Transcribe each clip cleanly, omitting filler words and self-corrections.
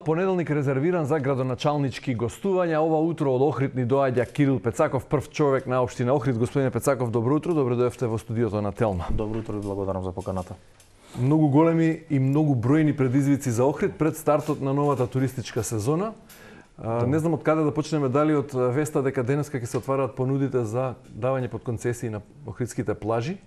Понеделник резервиран за градоначалнички гостувања. Ова утро од Охрид ни доаѓа Кирил Пецаков, прв човек на општина Охрид. Господине Пецаков, добро утро, добро дојдовте во студиото на Телма. Добро утро и благодарам за поканата. Многу големи и многу бројни предизвици за Охрид пред стартот на новата туристичка сезона. Не знам од каде да почнеме, дали од веста дека денеска ќе се отвараат понудите за давање под концесии на охридските плажи.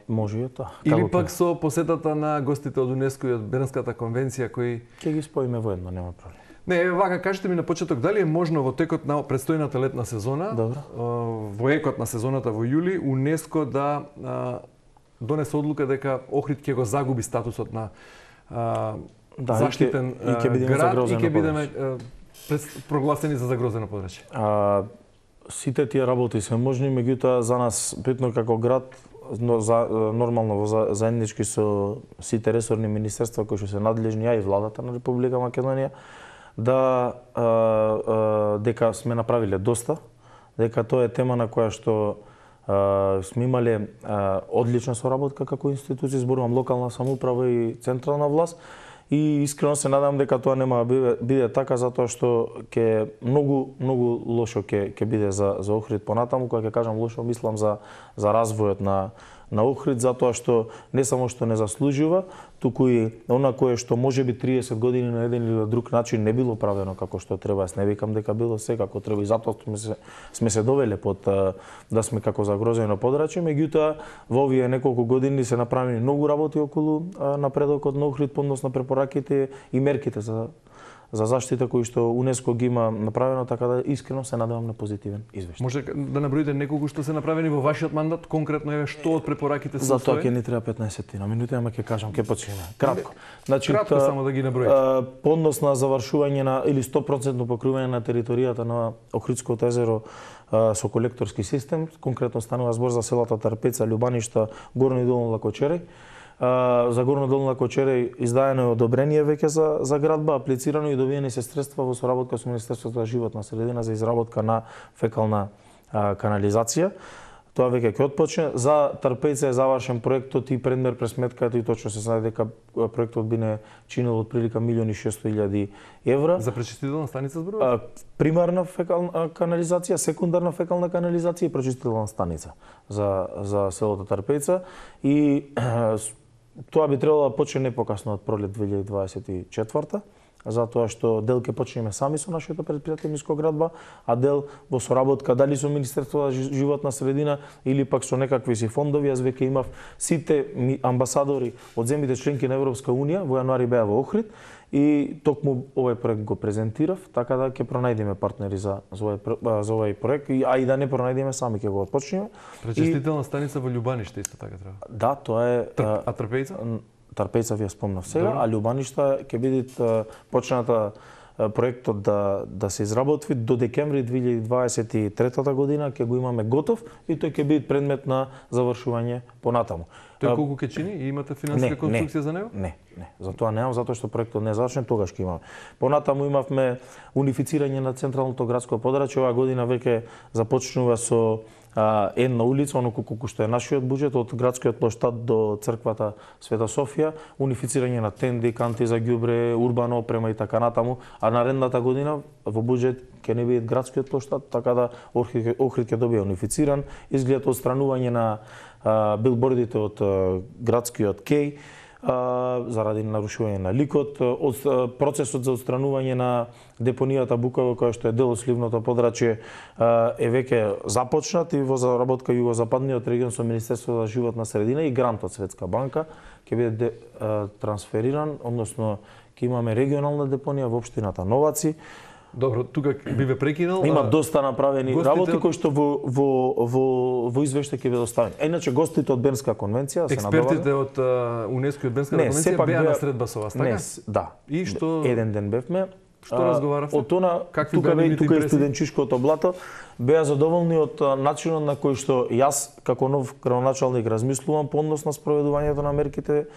Може и тоа. Или пак со посетата на гостите од УНЕСКО и од Бернската конвенција кои ќе ги споиме воедно, нема проблем. Не, вака кажете ми на почеток, дали е можно во текот на предстојната летна сезона, во екот на сезоната во јули, УНЕСКО да донесе одлука дека Охрид ќе го загуби статусот на заштитен град и ќе бидеме прогласени за загрозено подрачје? Сите тие работи се можни, меѓутоа за нас битно како град, нормално во заеднички со сите ресорни министерства кои што се надлежни, а и владата на Република Македонија, дека сме направиле доста, дека тоа е тема на која што сме имале одлична соработка како институција, зборувам локална самоуправа и централна власт. И искрено се надам дека тоа нема да биде така, затоа што ќе многу лошо ќе биде за Охрид понатаму. Кога ќе кажам лошо, мислам за развојот на Охрид, затоа што не само што не заслужува, туку и она кое што можеби 30 години на еден или друг начин не било правено како што треба. Јас не викам дека било се како треба и затоа сме се довеле под да сме како загрозено подрачје, меѓутоа во овие неколку години се направени многу работи околу напредокот на Охрид, односно препораките и мерките за заштита кои што УНЕСКО ги има направено, така да искрено се надевам на позитивен извештај. Може да наброите неколку што се направени во вашиот мандат, конкретно еве што од препораките се затоа ќе ни треба 15 минути, ама ќе кажам, ќе почнеме. Кратко. Значи, кратко само да ги наброите. По однос на завршување на или 100% покривање на територијата на Охридското езеро со колекторски систем, конкретно станува збор за селата Тарпеца, Љубаништа, Горно и Долно Лакочереј. За Горно Долно Лакочереј издаено е одобрение веќе за градба, аплицирано и добиени се средства во соработка со Министерството за животна средина за изработка на фекална канализација. Тоа веќе ќе отпочне. За Тарпејца е завршен проектот и предмер пресметката и точно се знае дека проектот би не чинел отприлика 1.600.000 евра. За пречистителна станица зборува? Примарна фекална канализација, секундарна фекална канализација и пречистителна станица за селото Тарпејца. И тоа би требало да почне не покасно од пролет 2024, затоа што дел ќе почнеме сами со нашето предпријатие Ниско градба, а дел во соработка дали со Министерството за животна средина или пак со некакви си фондови. Јас веќе имав сите амбасадори од земјите членки на Европска унија, во јануари беа во Охрид и токму овој проект го презентирав, така да ќе пронајдеме партнери за овој проект, а и да не пронајдеме сами ќе го отпочнеме. Пречистителна станица во Љубаниште исто така треба. Да, тоа е. А Трпејца? Тарпејца ви ја спомнав сега, а Љубаништа ќе биде почната проектот да се изработи до декември 2023 година, ќе го имаме готов и тој ќе биде предмет на завршување понатаму. Тој колку ќе чини и имате финансиска конструкција за него? Не. За тоа немам, затоа што проектот не е завршен, тогаш ќе имаме. Понатаму имавме унифицирање на централното градско подрачје. Оваа година веќе започнува со една улица, оноку колку што е нашиот буџет, од градскиот плоштад до црквата Света Софија, унифицирање на тенди, канти за ѓубре, урбана опрема и така натаму, а наредната година во буџет ќе не биде градскиот плоштад, така да Охрид ќе добие унифициран, изглед одстранување на билбордите од градскиот кеј, заради нарушување на ликот, процесот за отстранување на депонијата Букова, која што е дел од сливното подрачје, е веќе започнат и во заработка југозападниот регион со Министерството за животна средина и грант од Светска банка ќе биде трансфериран, односно ќе имаме регионална депонија во општината Новаци. Добро, тука би ве прекинал. Има доста направени работи кои што во извештај ќе бидат оставени. Иначе гостите од Бернска конвенција се надобаваа. Експертите од УНЕСКО и од Бернската конвенција беа на средба со вас, така? Да. И што еден ден бевме. Што разговаравте? Од она тука е студенчишкото блато, беа задоволни од начинот на кој што јас како нов градоначалник размислувам по однос на спроведувањето на мерките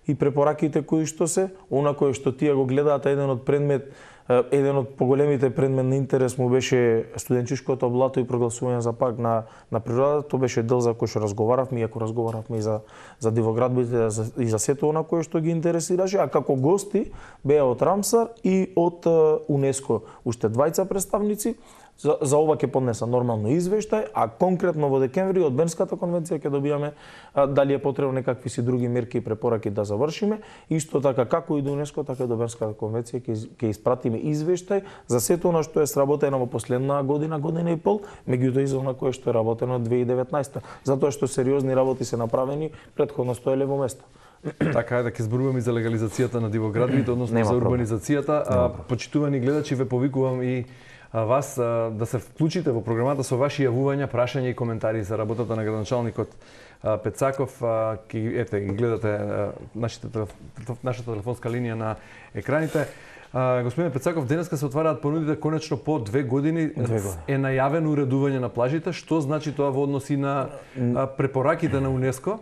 и препораките кои што се, она кое што тие го гледаат, еден од поголемите предмет на интерес му беше студенчишкото блато и прогласување за парк на природата. Тоа беше дел за кој што разговаравме, иако разговаравме и за дивоградбите и за сето она кое што ги интересираше, а како гости беа од Рамсар и од УНЕСКО уште двајца представници. За ова ќе поднеса нормално извештај, а конкретно во декември од Бернската конвенција ќе добијаме дали е потребно некакви си други мерки и препораки да завршиме. Исто така како и до УНЕСКО, така и до Бернската конвенција ќе испратиме извештај за сето она што е сработено во последна година, година и пол, меѓутоа и за она кое што е работено 2019, затоа што сериозни работи се направени, претходно стоеле во место. Така е, да ќе зборуваме и за легализацијата на дивоградбите, односно за урбанизацијата. Почитувани гледачи, ве повикувам и вас да се вклучите во програмата со ваши јавувања, прашања и коментари за работата на градоначалникот Пецаков. Ете, ги гледате нашата телефонска линија на екраните. Господине Пецаков, денеска се отвараат понудите конечно по 2 години. Е најавено уредување на плажите. Што значи тоа во односи на препораките на УНЕСКО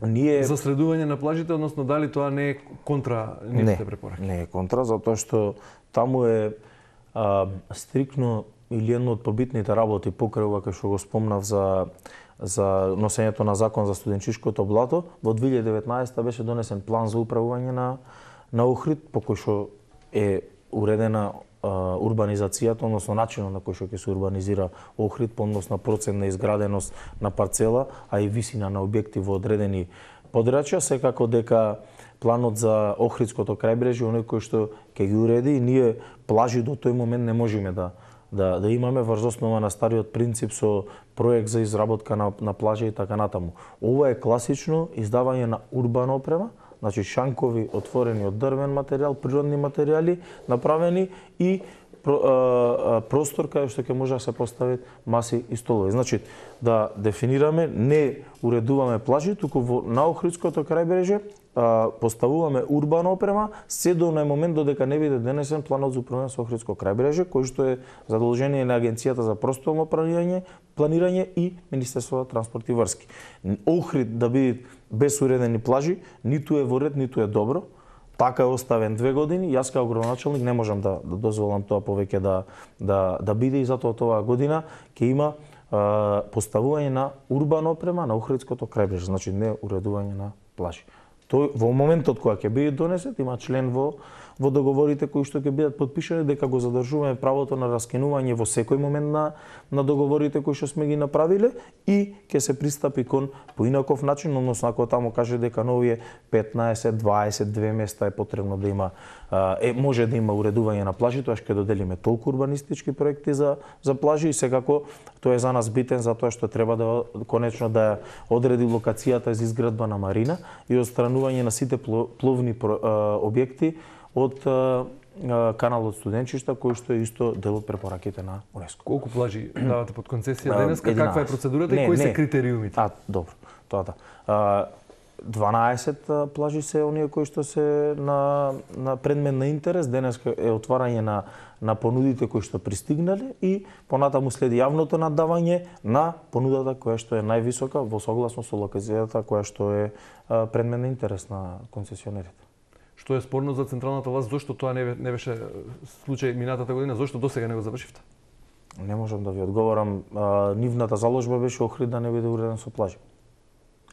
за средување на плажите, односно дали тоа не е контра нивните препораки? Не е контра, затоа што таму е стрикно или едно од побитните работи покрај ова кај што го спомнав за носењето на закон за студенчишкото блато, во 2019 беше донесен план за управување на Охрид, по кој што е уредена урбанизацијата, односно начинот на кој што ќе се урбанизира Охрид, по однос на процент на изграденост на парцела, а и висина на објекти во одредени подрачја, секако дека планот за Охридското крајбрежје, оној кој што ќе ги уреди, и ние плажи до тој момент не можеме да имаме врз основа на стариот принцип со проект за изработка на плажа и така натаму. Ова е класично издавање на урбана опрема, значи шанкови отворени од дрвен материјал, природни материјали направени и простор каде што ќе може да се постави маси и столови. Значи, да дефинираме, не уредуваме плажи, туку на Охридското крајбрежје поставуваме урбана опрема, се до нај момент додека не биде донесен планот за управување со Охридско крајбрежје, кој што е задолжение на Агенцијата за просторно планирање и Министерството за транспорт и врски. Охрид да биде без уредени плажи, ниту е во ред, ниту е добро. Така е оставен 2 години, јас како градоначалник не можам да дозволам тоа повеќе да биде, и затоа оваа година ќе има поставување на урбана опрема на Охридското крајбрежје, значи не уредување на плажи. Тој во моментот кога ќе биде донесен, има член во договорите кои што ќе бидат потпишани дека го задржуваме правото на раскинување во секој момент на договорите кои што сме ги направиле, и ќе се пристапи кон поинаков начин, односно ако таму каже дека на овие 15, 22 места е потребно да има може да има уредување на плажи, тоа ќе доделиме толку урбанистички проекти за плажи, и секако тоа е за нас битен затоа што треба да конечно да одреди локацијата за изградба на марина и отстранување на сите пловни објекти од каналот студенчишта, кој што е исто дел од препораките на УНЕСКО. Колку плажи давате под концесија денеска? Каква е процедурата и кои се критериумите? Добро. Тоа да. 12 плажи се оние кои што се на предмет на интерес. Денеска е отварање на понудите кои што пристигнале, и понатаму следи јавното наддавање на понудата која што е највисока во согласно со локацијата која што е предмет на интерес на концесионерите. Што е спорно за централната власт, зошто тоа не беше случај минатата година, зошто досега не го завршивте? Не можам да ви одговорам. Нивната заложба беше Охрид да не биде уреден со плажи.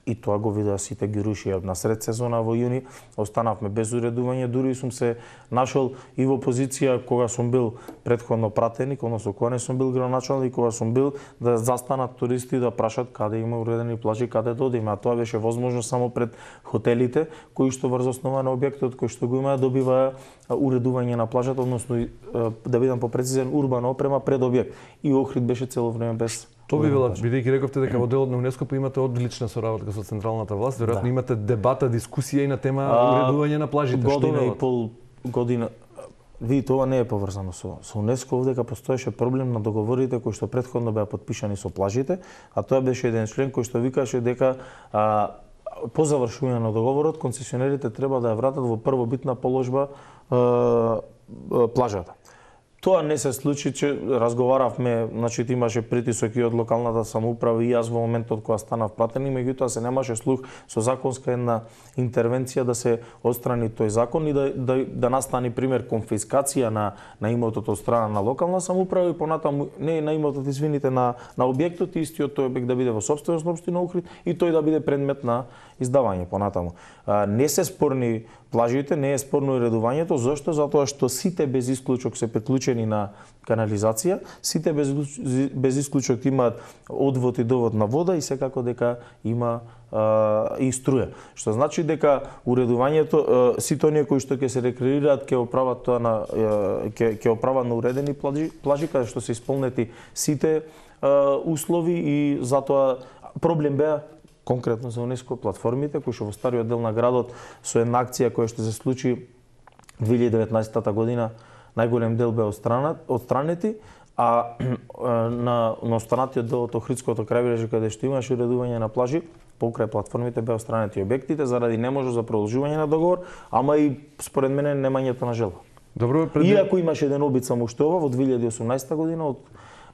И тоа го видеа сите гирушија. На сред сезона во јуни останавме без уредување, дури сум се нашол и во позиција кога сум бил претходно пратеник, односно кога не сум бил градоначалник, кога сум бил да застанат туристи да прашат каде има уредени плажи, каде да одиме, а тоа беше возможно само пред хотелите кои што врз основа на објектот кој што го има добива уредување на плажата, односно да бидам попрецизен, урбана опрема пред објект. И Охрид беше цело време без. Тоа би било, бидејќи рековте дека во делот на УНЕСКО имате одлична соработка со централната власт, веројатно имате дебата, дискусија и на тема уредување на плажите. Година и пол година. Видите, ова не е поврзано со УНЕСКО, овдека постоеше проблем на договорите кои што претходно беа потпишани со плажите, а тоа беше еден член кој што викаше дека по завршување на договорот концесионерите треба да ја вратат во првобитна положба плажата. Тоа не се случи, че разговаравме, значи имаше притисок и од локалната самоуправа и јас во моментот кога станав пратеник, меѓутоа се немаше слух со законска една интервенција да се отстрани тој закон и да настани пример конфискација на имотот од страна на локална самоуправа и понатаму не на имотот, извините, на објектот, истиот тој објект да биде во сопственост на општина Охрид и тој да биде предмет на издавање понатаму. Не се спорни плажите, не е спорно и редувањето, зашто? Затоа што сите без исклучок се приклучени на канализација, сите без исклучок имаат одвод и довод на вода и секако дека има и струја. Што значи дека уредувањето, сите оние кои што ќе се рекреираат ќе оправат тоа на ќе оправат на уредени плажи каде што се исполнети сите услови и затоа проблем беа конкретно за ЮНЕСКО платформите кои што во стариот дел на градот со една акција која што се случи 2019 година најголем дел беа отстранети, а на останатиот дел од Охридското крајбрежје каде што имаше уредување на плажи, покрај платформите беа отстранети објектите заради неможност за продолжување на договор, ама и според мене немањето на желба. Добро, Иако имаше еден обид само уште ова во 2018 година од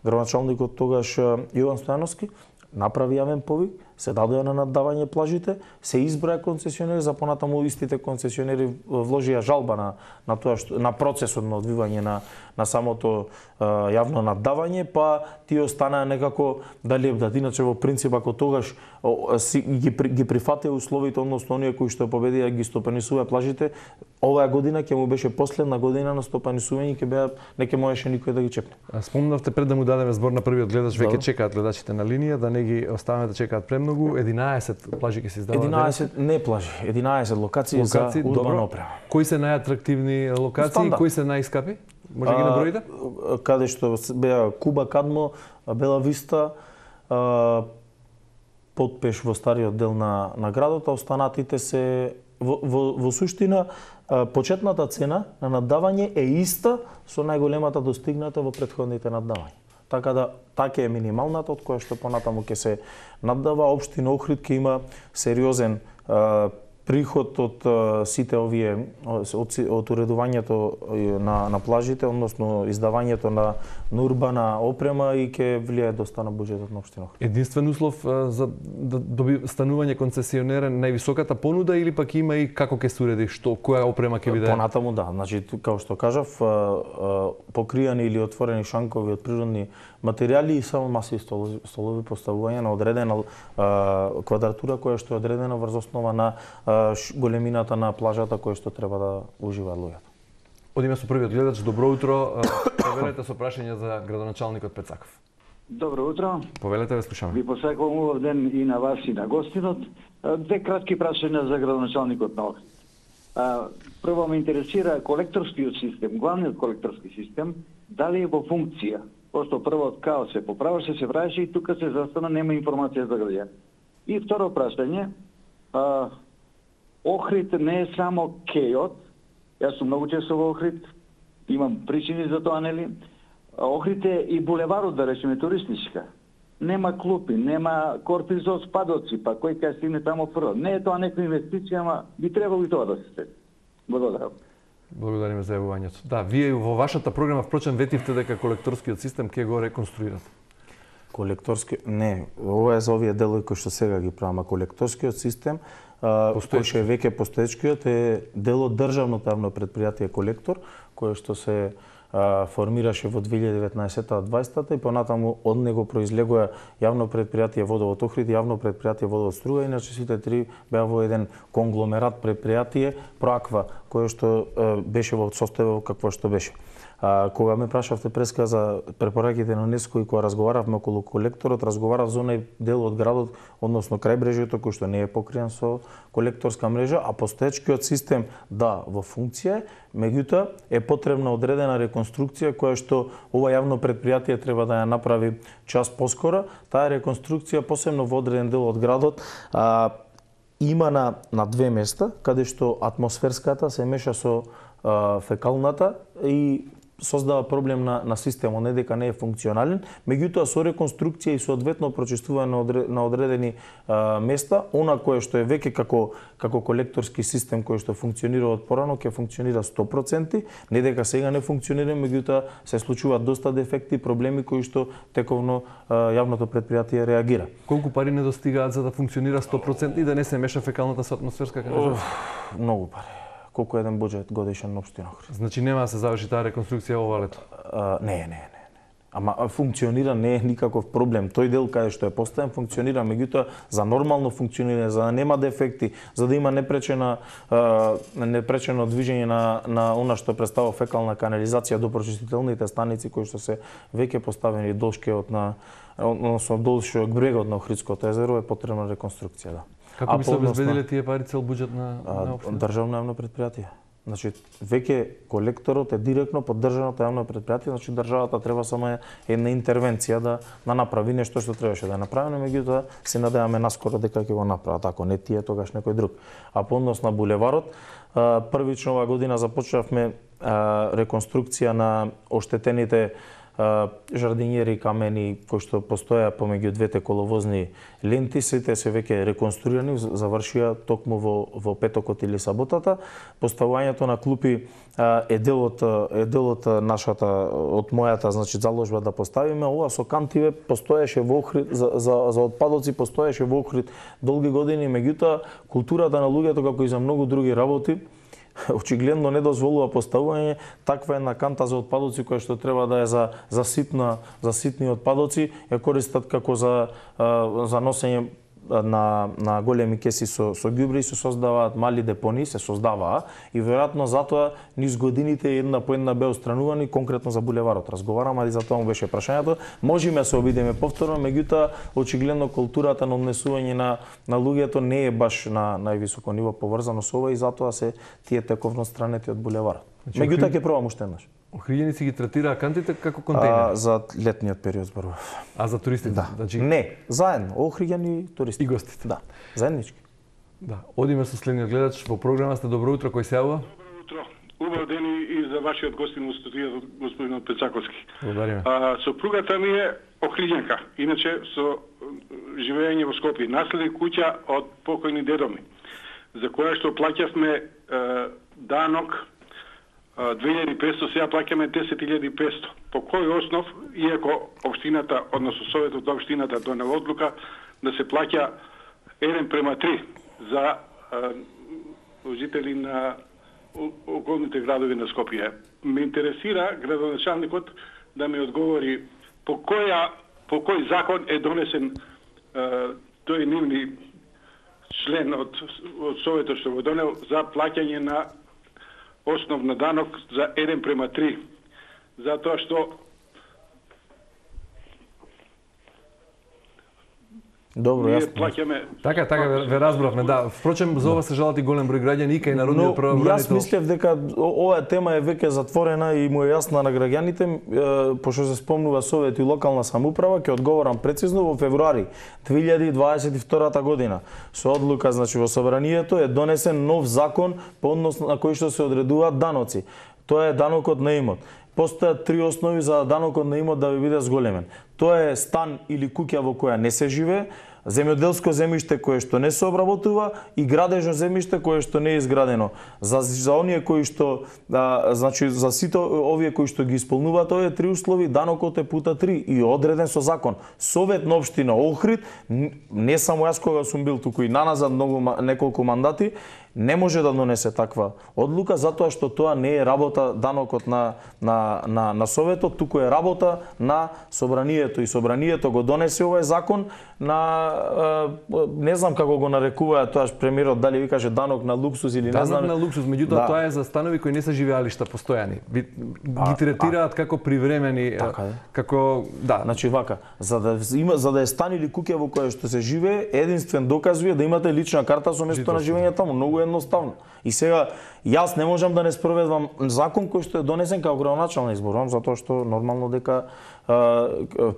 градоначалникот тогаш Јован Стојановски, направи јавен повик, се дадоа на наддавање плажите, се изброја концесионери, за понатаму истите концесионери вложија жалба на тоа што на процесот на одвивање на самото јавно наддавање, па тие останаа некако дали иначе во принцип ако тогаш ги прифатија условите, односно оние кои што победија ги стопанисуваа плажите, оваа година ќе му беше последна година на стопанисување, не ќе можеше никој да ги чепне. Спомнавте пред да му дадеме збор на првиот гледач, веќе чекаат гледачите на линија, да не ги оставаме да чекаат премногу. 11 плажи ќе се издаваат. 11 не плажи, 11 локации за урбана опрема. Кои се најатрактивни локации, кои се најскапи? Може ги наброите? Каде што беа Куба, Кадмо, Бела Виста, Потпеш во стариот дел на градот, а останатите се во суштина почетната цена на наддавање е иста со најголемата достигната во претходните наддавања. Така да така е минималната од која што понатаму ќе се наддава. Општина Охрид ќе има сериозен приход од сите овие од уредувањето на плажите, односно издавањето на урбана опрема и ќе влијае доста на буџетот на општина Охрид. Единствен услов за да доби станување концесионерен највисоката понуда или пак има и како ќе се уреди, што која опрема ќе биде? Понатаму да, значи како што кажав, покријани или отворени шанкови од природни материјали и само масиви столови поставување на одредена квадратура која што е одредена врз основа на големината на плажата која што треба да уживаат луѓето. Одиме со првиот гледач. Добро утро. Повелете со прашање за градоначалникот Пецаков. Добро утро. Повелете, ве слушаме. Ви посакувам убав ден и на вас и на гостинот. Две кратки прашања за градоначалникот на Охрид. Прво ме интересира колекторскиот систем, главниот колекторски систем, дали е во функција? Пошто првот као се поправаше, се враеше и тука се застана, нема информација за граѓани. И второ прашање, Охрид не е само кејот, јас сум многу често во Охрид, имам причини за тоа, нели? Охрид е и булеварот, да речеме, туристичка. Нема клупи, нема корпи за спадоци, па кој кај стигне тамо прво. Не е тоа некоја инвестиција, ама би требало и тоа да се стети. Благодарам. Благодариме за јавувањето. Да, вие во вашата програма впрочем ветивте дека колекторскиот систем ќе го реконструирате. Колекторски не, ова е за овие делови кои што сега ги правиме. Колекторскиот систем кој што е веќе постоечкиот е дел од државното јавно претпријатие Колектор, кое што се формираше во 2019-2020 и понатаму од него произлегоа јавно претпријатие Водовод Охрид и јавно претпријатие Водовод Струга, иначе сите три беа во еден конгломерат претпријатие Проаква, кое што беше во состојба какво што беше. Кога ме прашавте преска за препораките на ЮНЕСКО и кога разговаравме околу колекторот, разговарав за онај дел од градот, односно крајбрежјето кој што не е покриен со колекторска мрежа, а постоечкиот систем да во функција, меѓутоа е потребна одредена реконструкција која што ова јавно претпријатие треба да ја направи час поскоро. Таа реконструкција посебно во одреден дел од градот има на две места каде што атмосферската се меша со фекалната и создава проблем на системот, не дека не е функционален, меѓутоа со реконструкција и соодветно прочистување на одредени места, она кое што е веќе како колекторски систем кој што функционира од порано, ќе функционира 100%, не дека сега не функционира, меѓутоа се случуваат доста дефекти, проблеми кои што тековно јавното предпријатие реагира. Колку пари недостигаат за да функционира 100% и да не се меша фекалната со атмосферска канализација? Многу пари. Колку еден буџет годишен на општина Охрид. Значи нема да се заврши таа реконструкција ова лето? Не. Ама функционира, не е никаков проблем. Тој дел каде што е поставен функционира, меѓутоа за нормално функционирање, за да нема дефекти, за да има непречено движење на она што представува фекална канализација до прочистителните станици кои што се веќе поставени долшкиот односно долшиот брегот на Охридското езеро е потребна реконструкција, да. Како би се обезбедиле тие пари цел буџет на општина? Државно јавно предпријатие. Значи, веќе колекторот е директно под државното јавно предпријатие, значи државата треба само една интервенција да направи нешто што требаше да направи, меѓутоа се надеваме наскоро дека ќе го направат, ако не тие, тогаш некој друг. А по однос на булеварот, првично оваа година започнавме реконструкција на оштетените жардинјери камени кои што постоја помеѓу двете коловозни ленти, сите се веќе реконструирани, завршија токму во петокот или саботата. Поставувањето на клупи е делот нашата од мојата, значи заложба да поставиме. Ова со кантиве постоеше во Охрид за отпадоци постоеше во Охрид долги години, меѓутоа културата на луѓето како и за многу други работи очигледно не дозволува поставување таква една канта за отпадоци која што треба да е за ситни отпадоци, ја користат како за носење на големи кеси со ѓубри, се создаваат мали депони, се создаваа и веројатно затоа низ годините една по една беа отстранувани, конкретно за булеварот разговарам, а и за тоа му беше прашањето. Можеме се обидеме повторно, меѓутоа очигледно културата на однесување на луѓето не е баш на највисоко ниво поврзано со ова и затоа се тие тековно странети од булеварот. Меѓутоа ќе пробам уште еднаш. Охриѓаници ги третираа кантите како контејнери? За летниот период зборував. А за туристите? Да. Значи... Не, заедно, Охриѓани и туристи. И гостите? Да, заеднички. Да. Одиме со следниот гледач во програма сте. Добро утро, кој се јавува? Добро утро. Убав ден и за вашиот гостин во студијата, господин Пецаковски. Благодариме. Сопругата ми е Охриѓанка, иначе со живење во Скопје. Наследи куќа од покојни дедо ми, за која што плаќавме данок 2500, сега плаќаме 10.500. По кој основ, иако општината, односно Советот од општината донел одлука да се плаќа 1:3 за жители на околните градови на Скопје. Ме интересира градоначалникот да ми одговори по кој закон е донесен тој нивни член од Советот што го донел за плаќање на основна данок за 1:3, затоа што Добро, јасно. Плаќаме... Така, ве разбравме, да. Впрочем, за ова се жалат и голем број граѓани и кај народниот правобранител. Јас мислев дека оваа тема е веќе затворена и му е јасна на граѓаните, пошто се спомнува Совет и локална самоуправа, ќе одговорам прецизно во февруари 2022 година. Со одлука, значи во собранието е донесен нов закон по однос на кој што се одредуваат даноци. Тоа е данокот на имот. Постојат три основи за данокот на имот да ви биде зголемен. Тоа е стан или куќа во која не се живее, земјоделско земјиште кое што не се обработува и градежно земјиште кое што не е изградено. За оние кои што значи за сите овие кои што ги исполнуваат овие три услови, данокот е пута 3 и одреден со закон. Совет на општина Охрид, не само јас кога сум бил туку и наназад неколку мандати, не може да донесе таква одлука затоа што тоа не е работа данокот на Советот, туку е работа на собранието и собранието го донесе овој закон на не знам како го нарекуваат тоаш премиерот, дали ви каже данок на луксус или не знам. Данок на луксус, меѓутоа тоа е за станови кои не се живеалишта постојани. Ги третираат како привремени, како да. Значи вака, за да е стан или куќа во која што се живее, единствен доказ ви е да имате лична карта со место на живење таму, многу едноставно. И сега јас не можам да не спроведувам закон кој што е донесен како градоначалник, изборувам затоа што нормално дека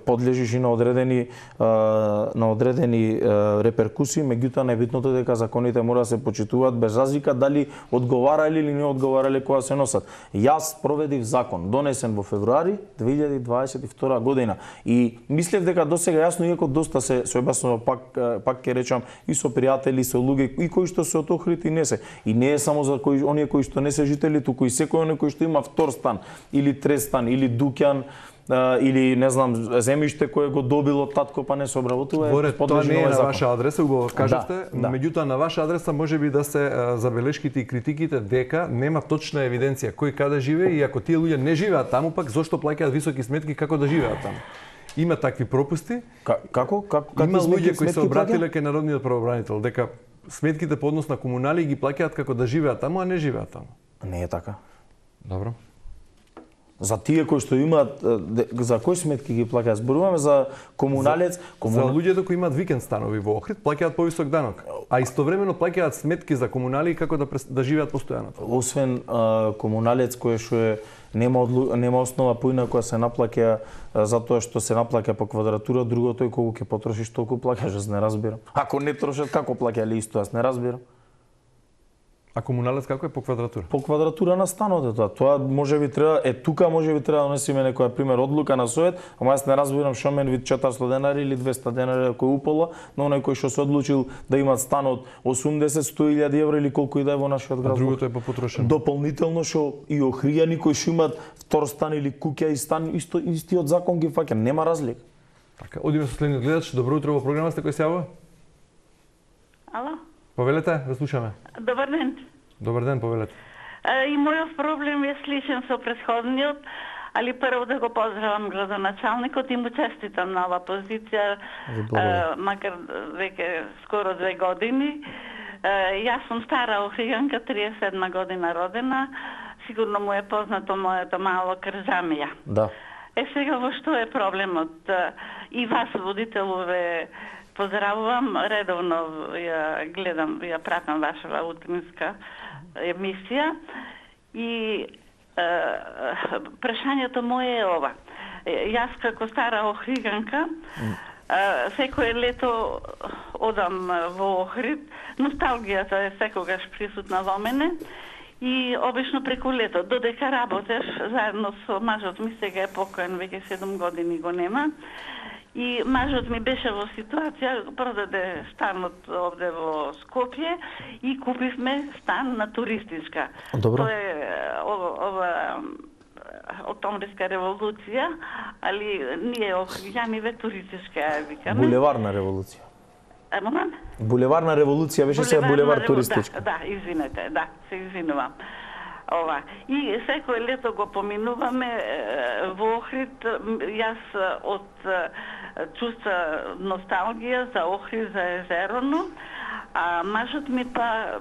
подлежиш и на одредени на одредени реперкусии, меѓутоа најбитното е дека законите мора да се почитуваат без разлика дали одговарале или не одговарале кога се носат. Јас проведив закон донесен во февруари 2022 година и мислев дека досега јасно, иако доста се објаснува, пак ќе речам, и со пријатели, со луѓе и кои што се од Охрид и не се. И не е само за оние кои што не се жители, туку и секој оној кој што има втор стан или трет стан или дуќан или не знам земјиште кое го добило татко па не се обработува. Боре, тоа не е на ваша адреса, убаво кажете, меѓутоа на ваша адреса можеби да се забелешките и критиките дека нема точна евиденција кој каде живее и ако тие луѓе не живеат таму, пак зошто плаќаат високи сметки како да живеат таму. Има такви пропусти. Како? Има луѓе кои се обратиле кај народниот правобранител дека сметките по однос на комунали ги плаќаат како да живеат таму, а не живеат таму. Не е така. Добро. За тие кои што имаат, за кои сметки ги плаќаат? Зборуваме за комуналец, За луѓето кои имаат викенд станови во Охрид плаќаат повисок данок, а истовремено плаќаат сметки за комунали како да живеат постојано. Освен комуналец кој што нема основа поинаку се наплаќа затоа што се наплаќа по квадратура, другото е колку ќе потрошиш толку плаќаш, јас не разбирам. Ако не трошат како плаќале исто, јас не разбирам. А комуналец како е по квадратура? По квадратура на станот е тоа. Тоа можеби треба, тука можеби треба да донесеме некоја пример одлука на совет, ама јас не разбирам што мен вид 400 денари или 200 денари кој упола, но оној кој што се одлучил да има стан од 80-100.000 евра или колку и да е во нашиот град. А другото е попотрошено. Дополнително што и охријани кои што имаат втор стан или куќа и стан, истиот закон ги фаќа, нема разлика. Така, одиме со следниот гледач. Добро утро, во програма сте, кој се јавува? Ало? Повелете, ве слушаме. Добар ден. Добар ден, повелете. И мојот проблем е сличен со претходниот, али прво да го поздравам градоначалникот и му честитам на ова позиција, макар веќе скоро 2 години. Јас сум стара охријанка, 37 година родена, сигурно му е познато моето мало Кржамија. Да. Сега во што е проблемот? И вас, водителове, поздравувам, редовно ја гледам, ја пратам вашава утринска емисија и прашањето мое е ова. Јас како стара охриганка секое лето одам во Охрид, носталгијата е секогаш присутна во мене и обично преку лето, додека работев заедно со мажот ми, сега е покоен, веќе 7 години го нема. И мажот ми беше во ситуација, продаде станот овде во Скопје и купивме стан на туристичка. Добро. Тоа е ова Октомвриска револуција, али ние охријаниве туристичка ја викаме. Булеварна револуција. Момент? Булеварна револуција беше се булевар туристичка. Да, извинете, да, се извинувам. Ова. И секој лето го поминуваме во Охрид. Јас од чувства носталгија за Охрид, за езероно, а мажот ми па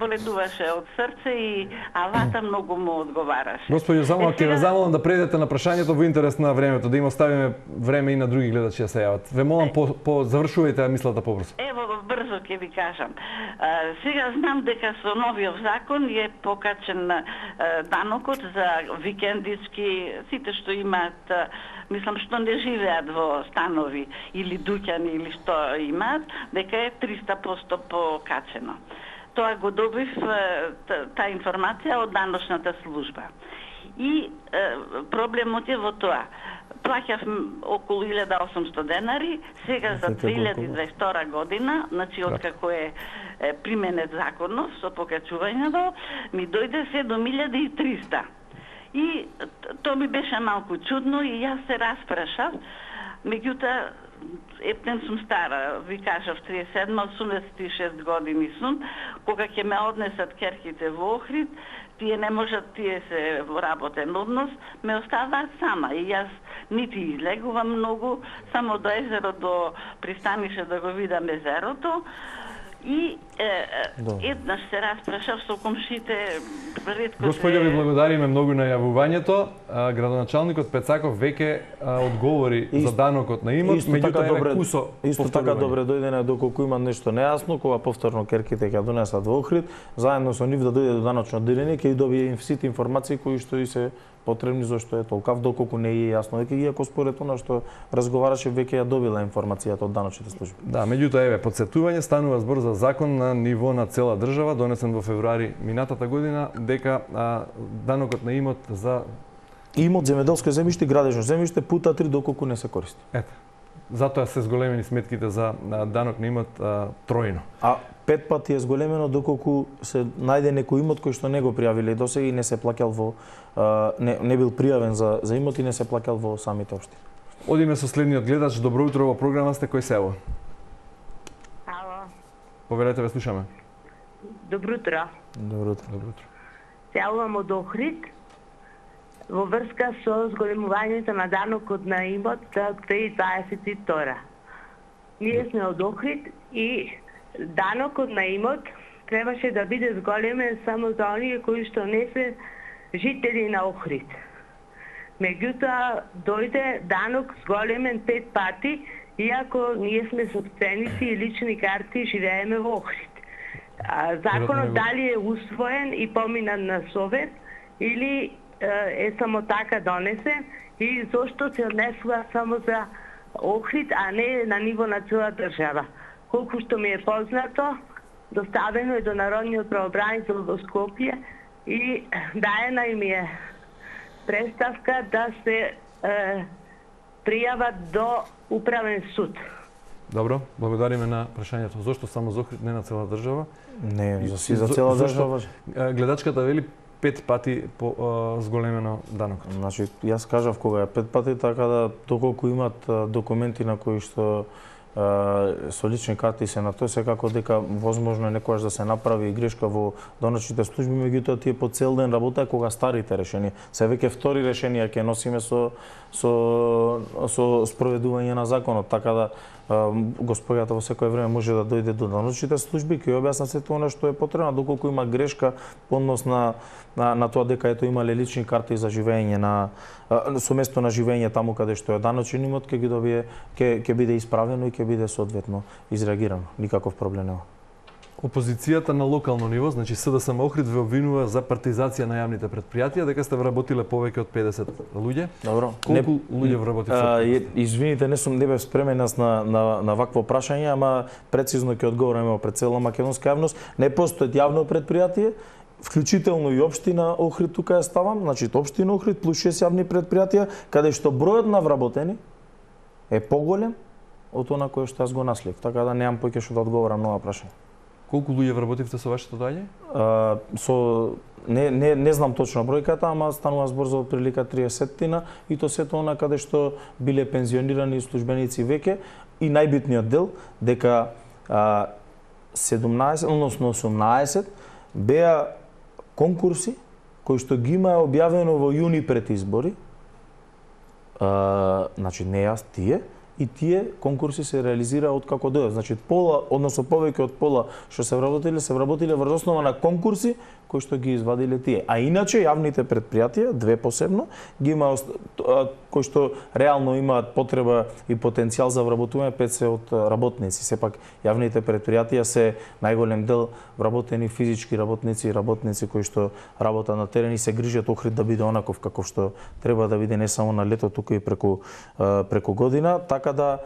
боледуваше од срце и авата многу му одговараше. Господјо, само ќе ве замолам да предете на прашањето во интерес на времето, да им оставиме време и на други гледачи да се јават. Ве молам завршувајте мислата побрзо. Ево, брзо ќе ви кажам. Сега знам дека со новиот закон е покачен данокот за викендички, сите што имаат, мислам што не живеат во станови или дуќани или што имаат, дека е 300% покачено. Тоа го добив таа информација од даночната служба. И проблемот е во тоа. Плаќав околу 1800 денари, сега за 2022 година, значи откако е применет законов со покачувањето, ми дојде 7300. И тоа ми беше малку чудно и јас се распрашав, меѓутоа ептен сум стара, ви кажав 87-86 години сум, кога ќе ме однесат керките во Охрид, тие не можат, тие се во работен однос, ме оставаат сама и јас нити излегувам многу, само до езеро, до пристанише да го видам езерото. И еднаш се распрашав со комшите, ретко. Господје, ви благодариме многу на јавувањето. Градоначалникот Пецаков веќе одговори за данокот на имот, меѓутоа кусо исто така добре дојдене доколку има нешто нејасно, кога повторно керките ќе донесат во Охрид, заедно со нив да дојде до даночно одделение, ќе добие сите информации кои што и се потребни, зашто е толкав доколку не е јасно дека иако според она што разговараше веќе ја добила информацијата од даночните служби. Да, меѓутоа еве потсетување, станува збор за закон на ниво на цела држава донесен во февруари минатата година дека данокот на имот за имот, земјоделско земјиште и градежно земјиште пута 3 доколку не се користи. Ето. Затоа се зголемени сметките за данок на имот тројно. А 5 пати е зголемено доколку се најде некој имот кој што не го пријавиле и досега и не се плаќал во не бил пријавен за имот и не се плаќал во самите општини. Одиме со следниот гледач. Добро утро, во програма сте, кој се ево? Ало. Поверете, ве слушаме. Добро утро. Добро утро. Добро утро. Се јавувам од Охрид во врска со зголемувањето на данокот на имот за 2022. Ние сме од Охрид и данокот на имот требаше да биде зголемен само за оние кои што не се жители на Охрид. Меѓутоа, дојде данок зголемен 5 пати, иако ние сме собственици и лични карти и живееме во Охрид. Законот дали е усвоен и поминат на Совет или е само така донесен и зошто се однесува само за Охрид, а не на ниво на цела држава. Колку што ми е познато, доставено е до Народниот правобранител во Скопје и даена им е представка да се пријават до управен суд. Добро, благодариме на прашањето. Зошто само за Охрид, не на цела држава? Не, за цела држава. Гледачката вели 5 пати зголемено данокот. Значи, јас кажав кога е 5 пати, така да доколку имат документи на кои што со лични карти се на тој, секако дека возможно е некогаш да се направи грешка во даночните служби, меѓутоа тие по цел ден работа кога старите решенија. Се веќе втори решенија ќе носиме со спроведување на законот, така да господјата во секое време може да дојде до даночните служби, ќе објасна сето она што е потребно, доколку има грешка по однос на тоа дека ето имале лични карти за живење со место на живење таму каде што е даночен имот, ќе ги добие, ќе биде исправено и ќе биде соодветно изреагирано. Никаков проблем нема. Опозицијата на локално ниво, значи СДСМ Охрид, ве обвинува за партизација на јавните претпријатија, дека сте вработиле повеќе од 50 луѓе. Добро. Колку луѓе вработите? Извините, не бев спремен на вакво прашање, ама прецизно ќе одговорам пред цела македонска јавност. Не постои јавно претпријатие, вклучително и општина Охрид тука ја ставам, значи општина Охрид плюс 6 јавни претпријатија, каде што бројот на вработени е поголем од она кој што јас го наследив, така да немам поќе што да одговорам на ова прашање. Колку луѓе вработивте со вашето доаѓање? Не знам точно бројката, ама станува збор за отприлика 30-тина и то сето она каде што биле пензионирани службеници веќе и најбитниот дел дека 17, односно 18 беа конкурси кои што ги има објавено во јуни пред избори. Значи не јас, тие. И тие конкурси се реализираа од како дојдат. Значи пола, односно повеќе од пола што се вработиле врз основа на конкурси кои што ги извадиле тие. А иначе јавните претпријатија, две посебно, ги има кои што реално имаат потреба и потенцијал за вработување 50 од работници. Сепак јавните претпријатија се најголем дел вработени физички работници и работници кои што работат на терен и се грижат Охрид да биде онаков каков што треба да биде не само на лето, туку и преку година. Така да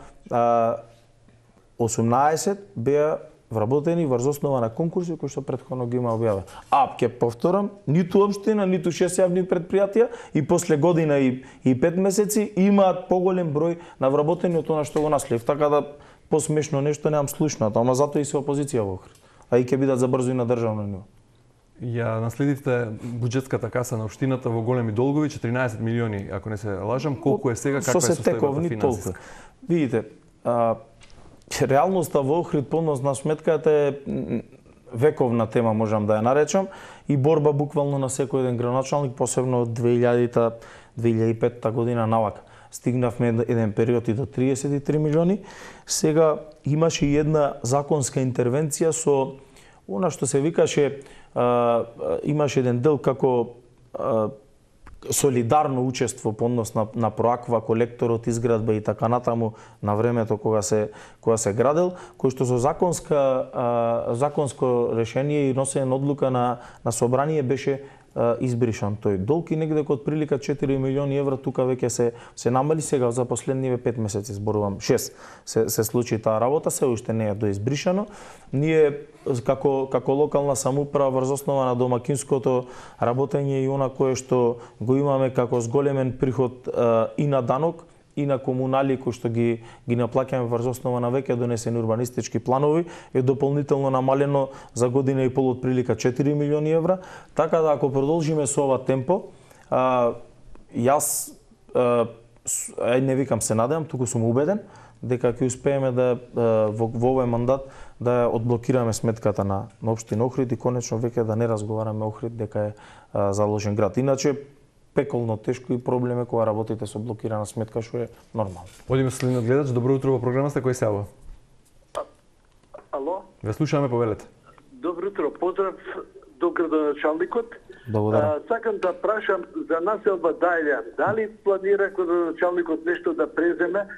18 беа вработени врз основа на конкурси кои што претходно ги има објавени. А ќе повторам, ниту општина, ниту 6 јавни претпријатија и после година и 5 месеци имаат поголем број на вработени од она што го наследив. Така да посмешно нешто немам слушнато, ама затоа и се опозиција во Охрид. А и ќе бидат забрзо и на државно ниво. Ја наследивте буџетската каса на општината во големи долгови, 14 милиони, ако не се лажам. Колку е сега, каква е состојбата финансиска? Видите, реалноста во Охрид подносна сметката е вековна тема, можам да ја наречам, и борба буквално на секој еден градоначалник, посебно од 2000-2005 година навака. Стигнавме еден период и до 33 милиони. Сега имаше и една законска интервенција со она што се викаше, имаше еден дел како солидарно учество по однос на проаква, колекторот, изградба и така натаму на времето кога се градел, кој што со законско решение и носење одлука на собрание беше избришан тој долг и негде од прилика 4 милиони евра тука веќе се намали сега за последниве 5 месеци, зборувам 6 се случи таа работа, се уште не е доизбришано. Ние како локална самоуправа врз основа на домакинското работење и она кое што го имаме како зголемен приход и на данок и на комунали кои што ги наплаќаме врз основа на веќе донесени урбанистички планови е дополнително намалено за година и пол од прилика 4 милиони евра, така да ако продолжиме со ова темпо, јас не викам се надевам, туку сум убеден дека ќе успееме да во овој мандат да одблокираме сметката на општина Охрид и конечно веќе да не разговараме Охрид дека е заложен град. Иначе пеколно тешко и проблем е кога работите со блокирана сметка, што е нормално. Одиме со следниот гледач. Добро утро во програмата, кој се јавува? Ало? Ве слушаме, повелете. Добро утро, поздрав до градоначалникот. Благодарам. Сакам да прашам за населба Дајлјан. Дали планира градоначалникот нешто да преземе?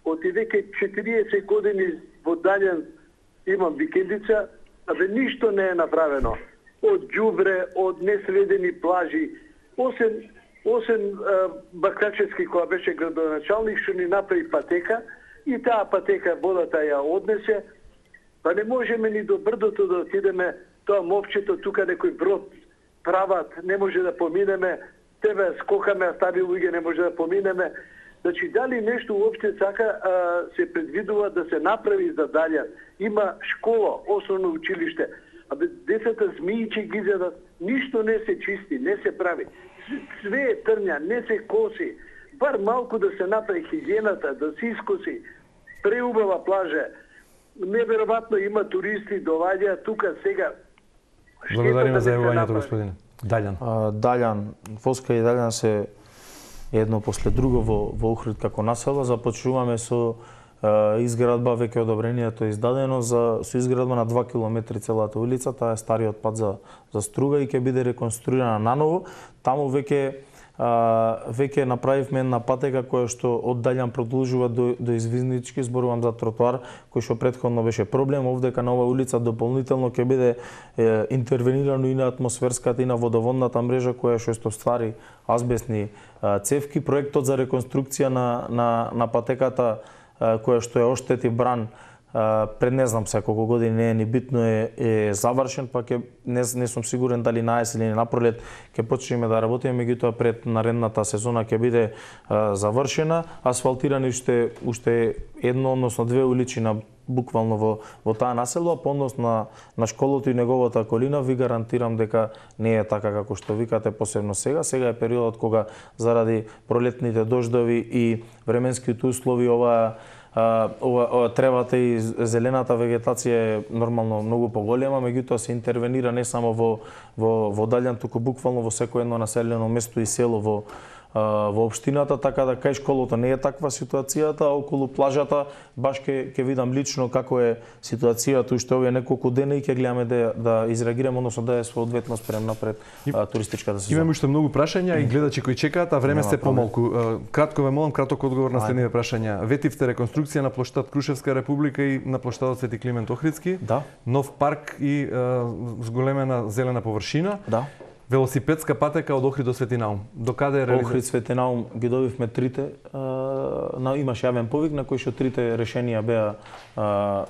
Од веќе 40 години во Дајлјан имам викендица, абе ништо не е направено. Од ѓубре, од несредени плажи, осем Бакрачевски која беше градоначалник што ни направи патека и таа патека водата ја однесе, па не можеме ни до брдото да отидеме, тоа мовчето тука некој брод прават, не може да поминеме, тебе скокаме, а стари луѓе не може да поминеме. Значи, дали нешто уопште сака се предвидува да се направи за Дајлјан? Има школа, основно училиште, абе децата змиичи ги изедат, ништо не се чисти, не се прави. Све е трња, не се коси. Бар малку да се направи хигиената, да се искоси. Преубава плажа. Неверојатно има туристи, доаѓаат тука сега. Благодариме за јавувањето, господине. Дајлјан. Дајлјан, Воска и Дајлјан се едно после друго во Охрид како населба. Започнуваме со изградба, веќе одобрението е издадено со изградба на 2 километри целата улица, таа е стариот пат за струга и ќе биде реконструирана наново. Таму веќе направивме една патека која што од Дајлјан продолжува до Извизнички, зборувам за тротоар кој што претходно беше проблем. Овдека на оваа улица дополнително ќе биде интервенирано и на атмосферската и на водоводната мрежа која што ствари азбестни цевки. Проектот за реконструкција на патеката која што е оштети бран пред не знам сега колку години, не е ни битно, е завршен, па не сум сигурен дали на есен или на пролет ќе почнеме да работиме, меѓутоа пред наредната сезона ќе биде завршена, асфалтирани уште едно, односно две уличина буквално во таа населба, по однос на школото и неговата околина, ви гарантирам дека не е така како што викате, посебно сега. Сега е периодот кога заради пролетните дождови и временските услови ова тревата и зелената вегетација е нормално многу поголема, меѓутоа се интервенира не само во Дајлјан, туку буквално во секој едно населено место и село во општината, така да кај школото не е таква ситуацијата, а околу плажата баш ќе видам лично како е ситуацијата уште овие неколку дена и ќе гледаме да изреагираме, односно да е соодветно спремна пред туристичката сезона. Имаме уште многу прашања и гледачи кои чекаат, а време се помалку. Кратко ве молам, краток одговор на следниве прашања. Ветивте реконструкција на плоштад Крушевска република и на плоштадот Свети Климент Охридски. Да. Нов парк и зголемена зелена површина. Да. Велосипедска патека од Охрид до Свети Наум. До каде е реализација? Охрид, Свети Наум ги добивме трите. Имаш јавен повик на кој што трите решенија беа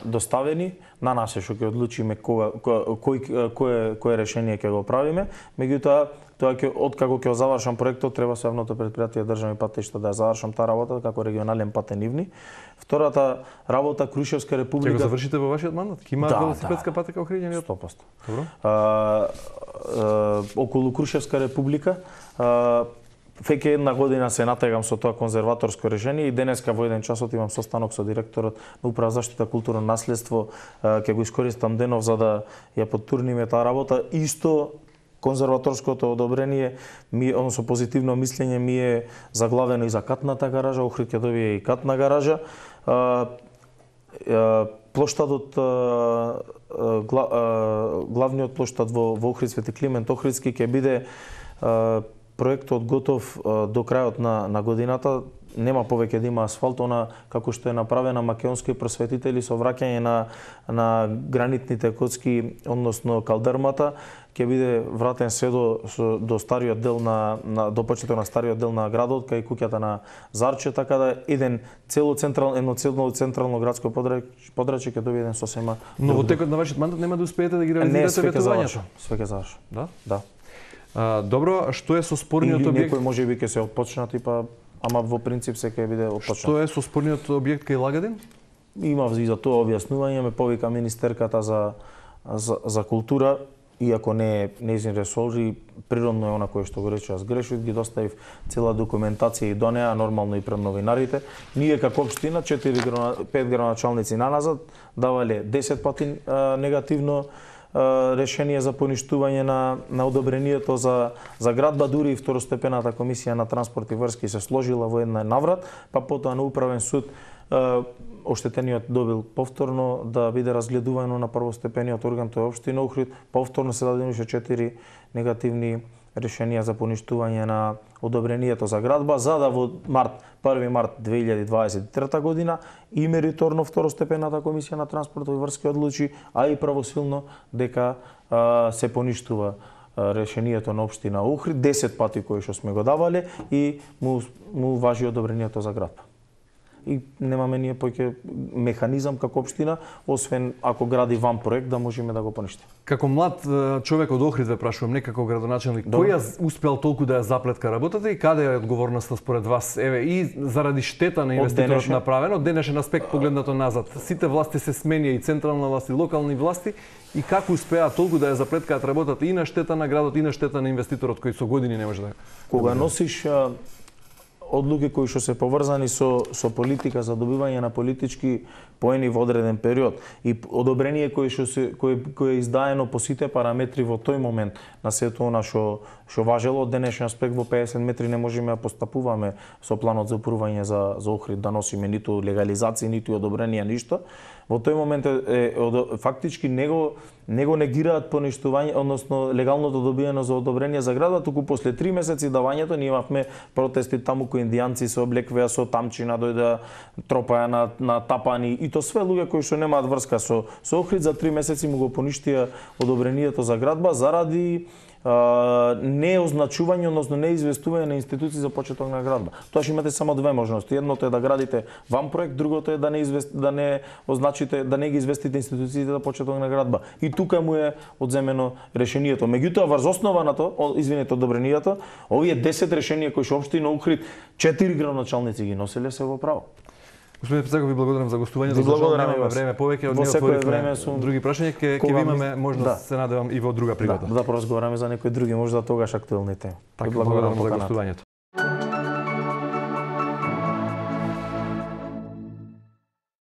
доставени. На нас е што ќе одлучиме кое решение ќе го правиме. Меѓутоа, тоа откако ќе завршам проектот, треба со јавното претпријатие државни патишта да ја завршам таа работа како регионален патен нивни. Втората работа Крушевска република. Ќе го завршите во вашиот мандат? Ќе има велосипедска патека охриѓени од 100%. Добро. Околу Крушевска република веќе една година се натегам со тоа конзерваторско решение и денеска во 1 часот имам состанок со директорот на Управа за заштита културно наследство, ќе го искористам денов за да ја потурниме таа работа. Исто конзерваторското одобрение, односно позитивно мислење ми е заглавено и за катната гаража, Охрид ќе добие и катна гаража. Плоштадот, главниот плоштад во Охрид Свети Климент Охридски ќе биде проектот готов до крајот на годината. нема повеќе да има асфалт, она како што е направена македонски просветители со враќање на гранитните коцки, односно калдермата, ќе биде вратен се до стариот дел до почетот на стариот дел на градот, кај куќата на Зарче, така да едно централно градско подрачје ќе добие еден сосема. Но во текот на вашиот мандат нема да успеете да ги реализирате ветувањето. Све ќе заврши. Да? Да. Добро, што е со спорниот објект? Некој можеби ќе се отпочнати, ама во принцип се ќе биде отпочнат. Што е со спорниот објект кај Лагадин? Имав и за тоа објаснување, ме повика министерката за култура, иако не е нејзин ресор, и природно е она кој што го рече, аз грешив, ги доставив цела документација и до неа, нормално и пред новинарите. Ние како општина, 5 градоначалници наназад, давале 10 пати негативно решение за поништување на одобрението за градба, дури и второстепената комисија на транспорт и врски се сложила во една наврат, па потоа на управен суд оштетениот добил повторно да биде разгледувано на првостепениот орган, тој е општина Охрид, повторно се дадени уште 4 негативни решенија за поништување на одобрението за градба, за да во 1 март 2023 година и мериторно второстепената комисија на транспорт и врски одлучи, а и правосилно дека се поништува решението на општина Охрид 10 пати кои што сме го давале и му важи одобрението за градба. И немаме ние поќе механизам како општина, освен ако гради ван проект, да можеме да го поништиме. Како млад човек од Охрид ве прашувам, не како градоначалник, кој ја успел толку да ја заплетка работата и каде е одговорноста според вас? Еве, и заради штета на инвеститорот направено, од денешен аспект погледнато назад. Сите власти се сменија, и централна власт, и локални власти, и како успеа толку да ја заплеткаат работата и на штета на градот, и на штета на инвеститорот кој со години не може да... Кога носиш одлуки кои што се поврзани со политика за добивање на политички поени во одреден период и одобрение кое е издаено по сите параметри во тој момент на сето она што важело, од денешен аспект во 50 метри не можеме да постапуваме со планот за упрување за Охрид, да носиме ниту легализација, ниту одобрение, ништо. Во тој момент фактички него негираат поништување, односно легалното добиено за одобрение за градот, туку после 3 месеци давањето ние имавме протести таму кои индијанци се облеквеа со тамчина, дојдеа тропаја на тапани и то све луѓе кои што немаат врска со Охрид, за 3 месеци му го поништија одобрението за градба заради неозначување, односно неизвестување на институции за почеток на градба. Тоа што имате само две можности. Едното е да градите ван проект, другото е да не означите, да не ги известите институциите за почеток на градба. И тука му е одземено решението. Меѓутоа, врз основа на тоа, одобрението, овие 10 решенија кои што општина Охрид 4 градоначалници ги носеле се во право. Господин Пецаков, ви благодарам за гостувањето. Ви благодарам за време повеќе, од него отворивме други прашања, ќе ви имаме можност, се надевам, и во друга пригода. Да поразговараме за некои други, можда тогаш актуелни теми. Така, благодарам за гостувањето.